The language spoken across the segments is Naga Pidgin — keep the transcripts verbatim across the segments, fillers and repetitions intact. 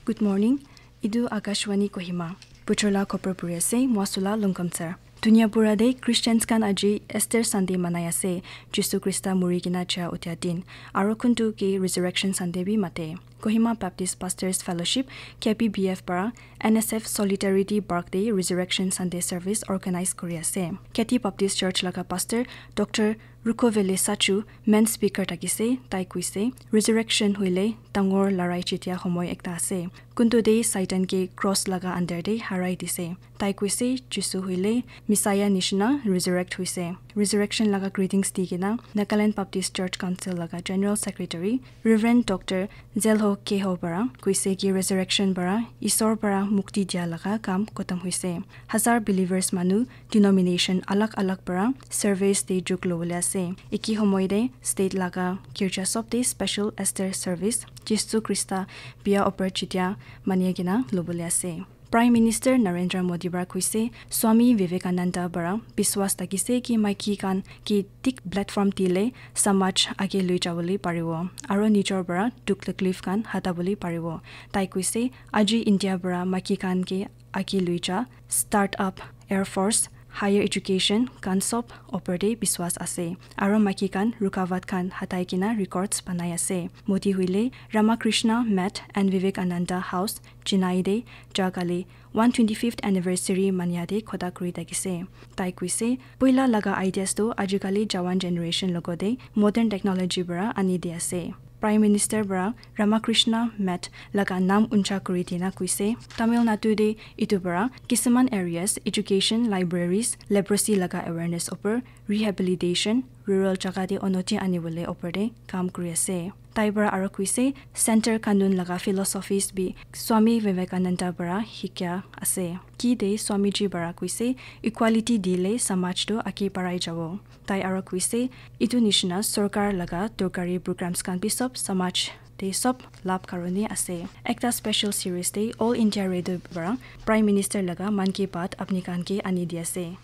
Good morning. Idu Akashvani Kohima. Puchola khopor puri ase, Mwasula Lungkamsar. Dunia pura de Christians khan aji Easter Sunday manai ase, Jisu Krista muri kena ja uthia din. Aro kuntu ke Resurrection Sunday bi mate. Kohima Baptist Pastors Fellowship, K B B F para N S F Solidarity Bark Day Resurrection Sunday Service organize kuri ase. Keti Baptist Church laga Pastor Doctor Rukovele Sachu main speaker thakise, tai kuise, Resurrection hoile dangor larai jitia homoi ekta ase. Kuntu de Satan ke cross laga under de harai dise. Tai kuise, Jisu hoile Messiah nishina resurrect huise. Resurrection laga greetings di kena Nagaland Baptist Church Council laga General Secretary Reverend Doctor Zelho Keho para kuise ki resurrection para Isor para mukti dia laga kam khotom huise. Hazar believers manu denomination alag alag para service te jug lobole ase. Eki homoi de state laga girja sob te special Easter service Jisu Krista bia opor jitia mania kena lobole ase. Prime Minister Narendra Modi para kuise, Swami Vivekananda para biswas thakise ki maiki khan ki thik platform dile samaj age lui jabole paribo, aro nijor para dukh taklif khan hata bole paribo. Tai kuise, aji India para maiki khan ke age lui ja, startup, air force, higher education khan sob opor te biswas ase, aro maiki khan rukawat khan hatai kena records banai ase. Modi hoile Ramakrishna Math and Vivekananda House, Chennai de ja kali one twenty-fifth anniversary mania de khota kuri thakise. Tai kuise, poila laga ideas tu ajikali jawan generation logote modern technology para ani di ase. Prime Minister para Ramakrishna Math laga naam uncha kuri dina kuise, Tamil Nadu de itu para kisuman areas, education, libraries, leprosy laga awareness opor, rehabilitation, rural jaga de onoti anibole opor de kam kuri ase. Tai para aro kuise, center kanun laga philosophies bi Swami Vivekananda para hikya ase. Ki de Swamiji para kuise, equality dile samaj tu age barai jabo. Tai aro kuise, itu nishina sorkar laga dorkari programs khan bi sob samaj te sob lab karone ase. Ekta special series te All India Radio para Prime Minister laga Mann Ki Baat apni khan ke ani di ase.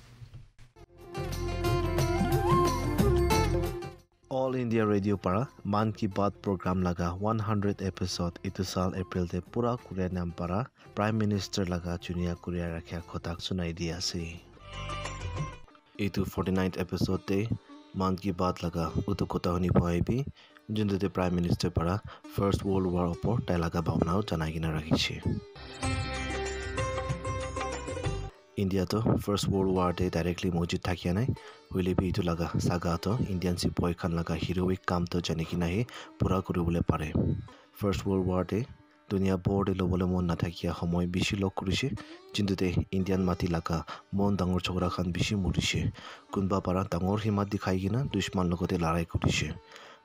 All India Radio para Mann Ki Baat program laga one hundred episode itu sal April te pura kuria nam para Prime Minister laga chunia kuria rakhia khotak sunai di ase. Itu forty-ninth episode te Mann Ki Baat laga utu kota huni paibi, juntu te Prime Minister para First World War opor tai laga bhabna janai kena rakhiche. India to First World War te directly mojud thakia nai, hoile bi itu laga saga to Indian sepoy khan laga heroic kam to jani kena hi pura kuribole pare. First World War te dunia bor te lobole mon nathakia homoi bishi log kurishe, jintu te Indian mati laga mon dangor chokra khan bishi murishe. Kunba para dangor himmat dikhai kena dushman logote larai kurishe.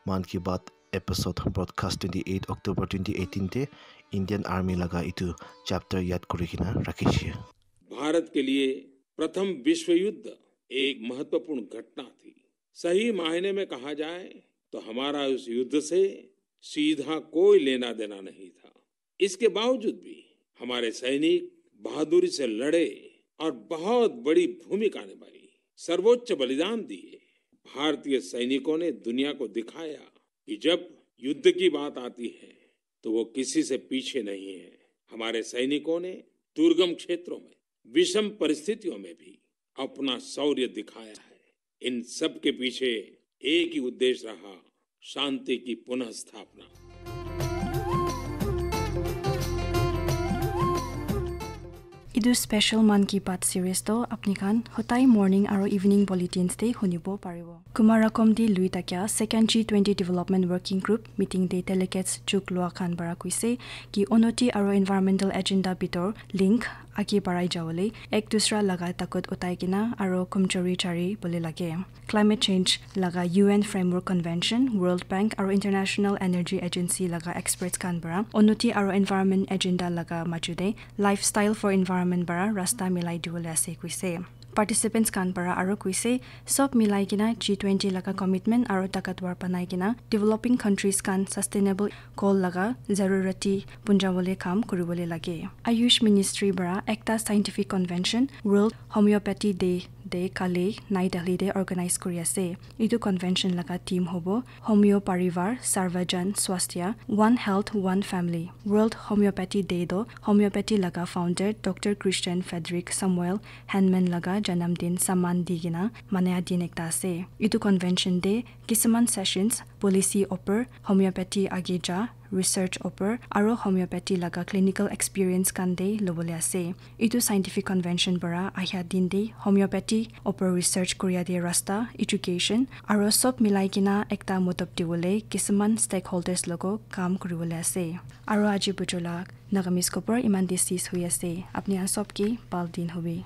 Mann Ki Baat episode broadcast twenty eight October twenty eighteen te Indian Army laga itu chapter yad kuri kena rakhishe. भारत के लिए प्रथम विश्व युद्ध एक महत्वपूर्ण घटना थी। सही मायने में कहा जाए तो हमारा उस युद्ध से सीधा कोई लेना देना नहीं था। इसके बावजूद भी हमारे सैनिक बहादुरी से लड़े और बहुत बड़ी भूमिका निभाई, सर्वोच्च बलिदान दिए। भारतीय सैनिकों ने दुनिया को दिखाया कि जब युद्ध की बात आती है तो वो किसी से पीछे नहीं है। हमारे सैनिकों ने दुर्गम क्षेत्रों में, विषम परिस्थितियों में भी अपना शौर्य दिखाया है। इन सब के पीछे एक ही उद्देश्य रहा, शांति की पुनर्स्थापना। Idu special Mann Ki Baat series to apni khan hotai morning aro evening bulletins te hunibo paribo. Kumarakom di lui takia second G twenty Development Working Group meeting te delegates juk lua khan para kuise ki onoti aro environmental agenda bitor link age barai jawole ek dusra laga takut utai kena aro kumchori chari bole lage. Climate change laga U N Framework Convention, World Bank aro International Energy Agency laga experts khan para onoti aro environment agenda laga majude lifestyle for environment para rasta milai dibole ase kuise. Participants khan para aro kuise, sob milai kena G twenty laga commitment aro takatwar banai kena developing countries khan sustainable goal laga zarurati punjabole kam kuribole lage. Ayush Ministry para ekta scientific convention, World Homeopathy Day te kali Nai Delhi te organize kuri ase. Etu convention laga theme hobo Homeo Parivar Sarvajan Swasthya, One Health, One Family. World Homeopathy Day toh homeopathy laga founder Doctor Christian Frederick Samuel Hahnemann laga janam din samman di kena manaya din ekta ase. Etu convention te kisuman sessions policy opor, homeopathy age ja, research opor, aro homeopathy laga clinical experience khan te lobole ase. Etu scientific convention para ahia din te homeopathy opor research koria te rasta, education, aro sob milai kena ekta motob diwole kisuman stakeholders logo kam kuriwole ase. Aro aji bujo la Nagamese khobor iman te sis hui ase. Apni khan sob ke bhal din hobi.